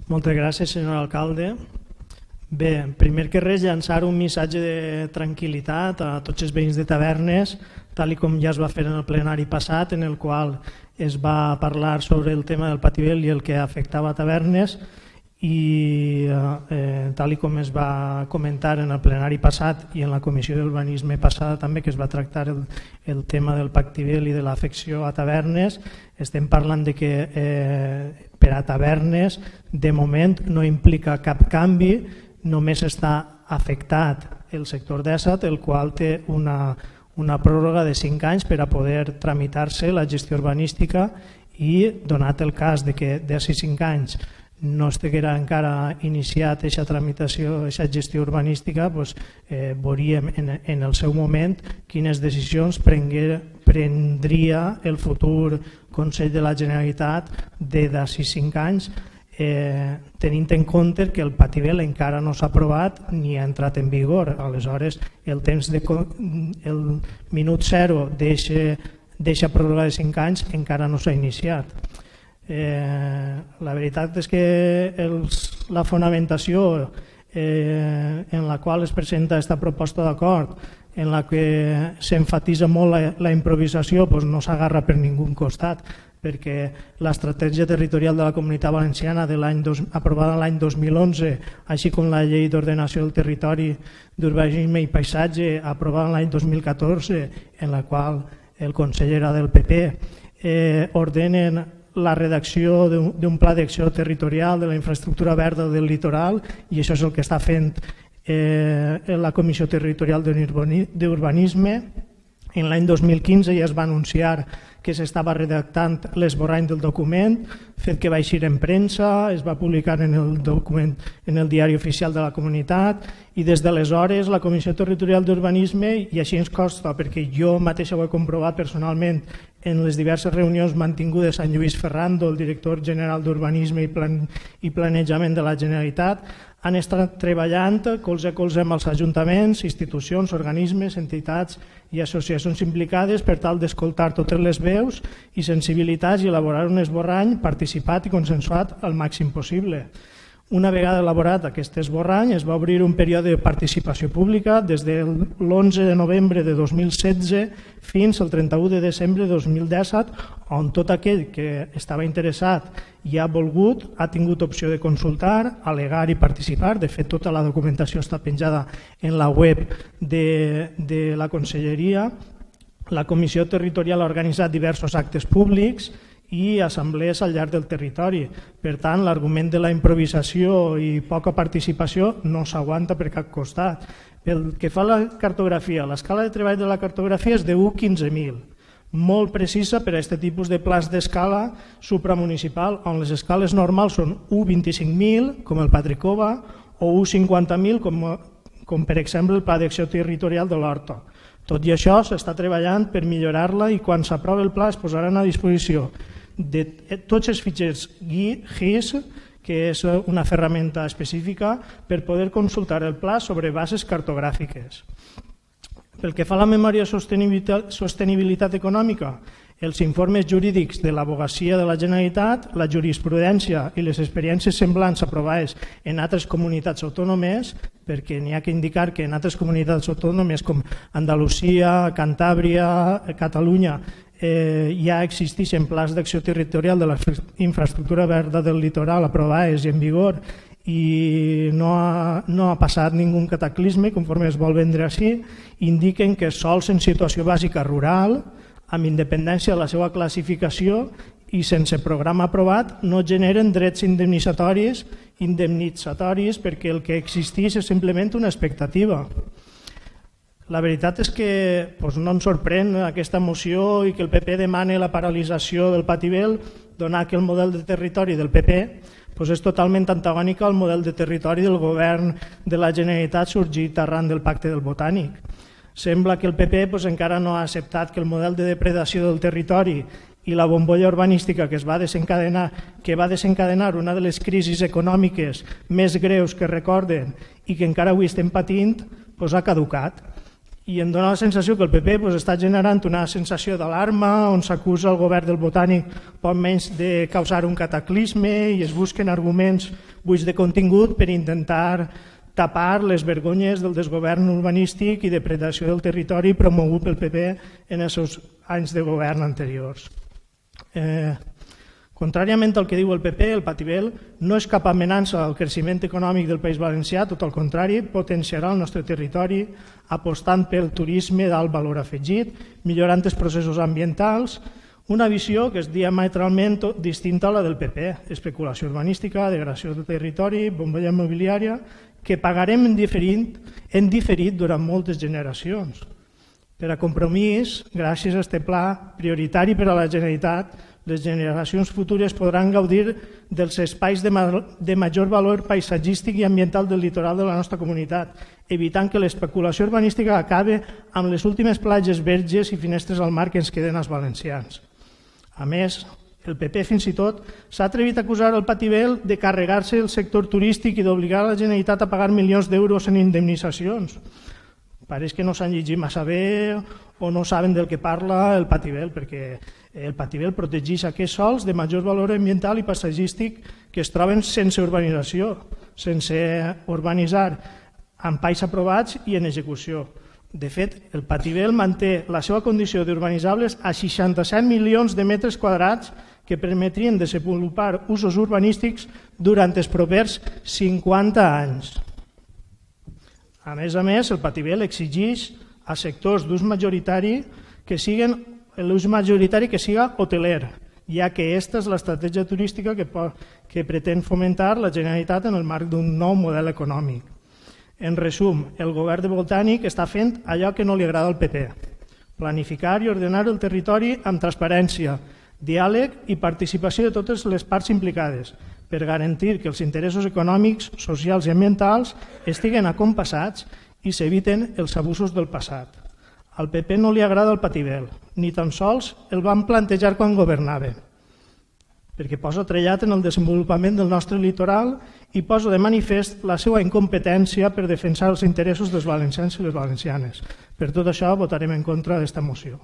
Moltes gràcies, senyor alcalde. Bé, primer que res, llançar un missatge de tranquil·litat a tots els veïns de Tavernes, tal com ja es va fer en el plenari passat, en el qual es va parlar sobre el tema del Pativel i el que afectava a Tavernes, i tal com es va comentar en el plenari passat i en la comissió d'urbanisme passada també, que es va tractar el tema del Pativel i de l'afecció a Tavernes, estem parlant de que per a Tavernes de moment no implica cap canvi, només està afectat el sector d'Essat, el qual té una pròrroga de 5 anys per a poder tramitar-se la gestió urbanística, i donat el cas de que d'ací 5 anys no estiguera encara iniciat aquesta tramitació, aquesta gestió urbanística, veuríem en el seu moment quines decisions prendria el futur Consell de la Generalitat d'ací 5 anys, tenint en compte que el Pativel encara no s'ha aprovat ni ha entrat en vigor. Aleshores, el minut zero d'aquesta pròrroga de 5 anys encara no s'ha iniciat. La veritat és que la fonamentació en la qual es presenta aquesta proposta d'acord, en la que s'enfatitza molt la improvisació, no s'agarra per ningú costat, perquè l'estratègia territorial de la Comunitat Valenciana aprovada l'any 2011, així com la llei d'ordenació del territori, d'urbanisme i paisatge aprovada l'any 2014, en la qual el conseller era del PP, ordenen la redacció d'un pla d'acció territorial de la infraestructura verda del litoral, i això és el que està fent la Comissió Territorial d'Urbanisme. En l'any 2015 ja es va anunciar que s'estava redactant l'esborrany del document, fet que va eixir en premsa, es va publicar en el diari oficial de la comunitat, i des d'aleshores la Comissió Territorial d'Urbanisme, i així ens consta perquè jo mateixa ho he comprovat personalment en les diverses reunions mantingudes amb Lluís Ferrando, el director general d'Urbanisme i Planejament de la Generalitat, han estat treballant colze a colze amb els ajuntaments, institucions, organismes, entitats i associacions implicades per tal d'escoltar totes les veus i sensibilitats i elaborar un esborrany participat i consensuat al màxim possible. Una vegada elaborat aquest esborrany, es va obrir un període de participació pública des de l'11 de novembre de 2016 fins al 31 de desembre de 2017, on tot aquell que estava interessat i ha volgut ha tingut opció de consultar, al·legar i participar. De fet, tota la documentació està penjada en la web de la Conselleria. La Comissió Territorial ha organitzat diversos actes públics i assemblees al llarg del territori. Per tant, l'argument de la improvisació i poca participació no s'aguanta per cap costat. Pel que fa a la cartografia, l'escala de treball de la cartografia és de 1:15.000, molt precisa per a aquest tipus de plans d'escala supramunicipal, on les escales normals són 1:25.000, com el Patricova, o 1:50.000, com per exemple el Pla d'Acció Territorial de l'Horta. Tot i això s'està treballant per millorar-la, i quan s'aprovi el pla es posaran a disposició de tots els fitxers GIS, que és una ferramenta específica per poder consultar el pla sobre bases cartogràfiques. Pel que fa a la memòria de sostenibilitat econòmica, els informes jurídics de l'advocacia de la Generalitat, la jurisprudència i les experiències semblants aprovades en altres comunitats autònomes, perquè n'hi ha que indicar que en altres comunitats autònomes com Andalusia, Cantàbria, Catalunya, ja existeixen plans d'acció territorial de la infraestructura verda del litoral aprovades i en vigor, i no ha passat ningú cataclisme, conforme es vol vendre així. Indiquen que sols en situació bàsica rural, amb independència de la seva classificació i sense programa aprovat, no generen drets indemnitzatoris perquè el que existeix és simplement una expectativa. La veritat és que no ens sorprèn aquesta moció i que el PP demani la paralització del Pativel, donat que el model de territori del PP és totalment antagònic al model de territori del govern de la Generalitat sorgit arran del Pacte del Botànic. Sembla que el PP encara no ha acceptat que el model de depredació del territori i la bombolla urbanística que va desencadenar una de les crisis econòmiques més greus que recorden i que encara avui estem patint, ha caducat. i em dóna la sensació que el PP està generant una sensació d'alarma on s'acusa el govern del Botànic poc menys de causar un cataclisme i es busquen arguments buits de contingut per intentar tapar les vergonyes del desgovern urbanístic i depredació del territori promogut pel PP en els seus anys de govern anteriors. Contràriament al que diu el PP, el Patibel no és cap amenaça al creixement econòmic del País Valencià, tot al contrari, potenciarà el nostre territori apostant pel turisme d'alt valor afegit, millorant els processos ambientals, una visió que és diametralment distinta a la del PP, especulació urbanística, degradació del territori, bombolla immobiliària, que pagarem en diferit durant moltes generacions. Per a compromís, gràcies a aquest pla prioritari per a la Generalitat, les generacions futures podran gaudir dels espais de major valor paisatgístic i ambiental del litoral de la nostra comunitat, evitant que l'especulació urbanística acabe amb les últimes platges verges i finestres al mar que ens queden als valencians. A més, el PP fins i tot s'ha atrevit a acusar el Patibel de carregar-se el sector turístic i d'obligar la Generalitat a pagar milions d'euros en indemnitzacions. Pareix que no s'han llegit massa bé o no saben del que parla el Patibel, perquè el Patibel protegeix aquests sols de major valor ambiental i paisatgístic que es troben sense urbanització, sense urbanitzar, amb pais aprovats i en execució. De fet, el Patibel manté la seva condició d'urbanitzables a 67 milions de metres quadrats que permetrien desenvolupar usos urbanístics durant els propers 50 anys. A més, el Patibel exigeix a sectors d'ús majoritari que siguin l'ús majoritari que siga hoteler, ja que aquesta és l'estratègia turística que pretén fomentar la Generalitat en el marc d'un nou model econòmic. En resum, el govern de Botànic està fent allò que no li agrada al PP, planificar i ordenar el territori amb transparència, diàleg i participació de totes les parts implicades, per garantir que els interessos econòmics, socials i ambientals estiguen acompassats i s'eviten els abusos del passat. Al PP no li agrada el Patibel, ni tan sols el van plantejar quan governava, perquè posa trellat en el desenvolupament del nostre litoral i posa de manifest la seva incompetència per defensar els interessos dels valencians i les valencianes. Per tot això votarem en contra d'esta moció.